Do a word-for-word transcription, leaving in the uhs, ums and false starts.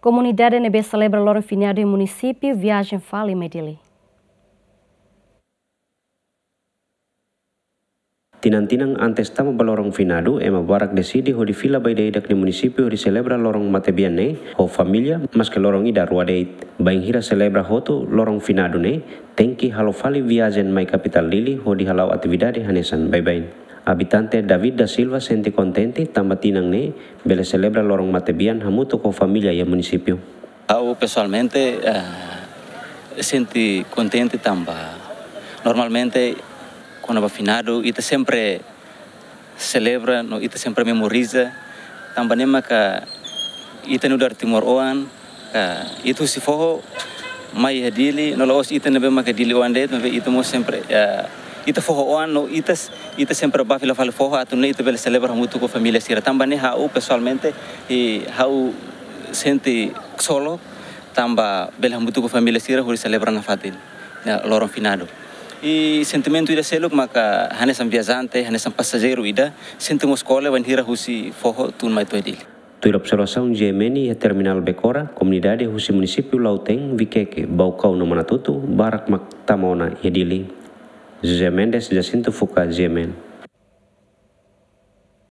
Komunidade ne'ebé selebra loron finadu iha munisípiu viajen fali mai Dili. Tinan-tinan antes tama ba loron finadu, ema barak deside hodi fila ba ida-idak nia munisípiu hodi selebra loron matebian ne'e ho família, maske loron ida rua de'it. Bainhira selebra hotu loron finadu ne'e, tenke halo fali viajen mai kapitál Dili hodi hala'o atividade hanesan baibain. Abitante David da Silva sente kontente tanba tinan ne'e bele selebra loron matebian hamutuk ho família iha munisípiu. Ha'u pesoalmente, eh, sente kontente tanba normalmente kona-ba finadu ita sempre selebra no ita sempre memoriza, tanba ne'e maka ita nu'udar timoroan, ka ita husi foho mai iha Dili, no la'ós ita ne'ebé maka Dili-oan de'it, maibé ita mós sempre, eh, ita foho-oan no ita, ita sempre bá fila fali foho atu nune'e ita bele selebra hamutuk ho família sira. Tanba ne'e ha'u pesoalmente, i ha'u sente ksolok tanba bele hamutuk ho família sira hodi selebra nafatin, ya, loron finadu. I sentimentu ida seluk maka hanesan viajante, hanesan pasajeiru ida, sente mós kole bainhira husi foho tun mai to'o Dili. Tuir observasaun G M N iha terminál Becora, komunidade husi munisípiu Lautém, Viqueque, Baucau no Manatuto, barak mak tama ona iha Dili. José Mendes, Jacinto Fuca, G M N.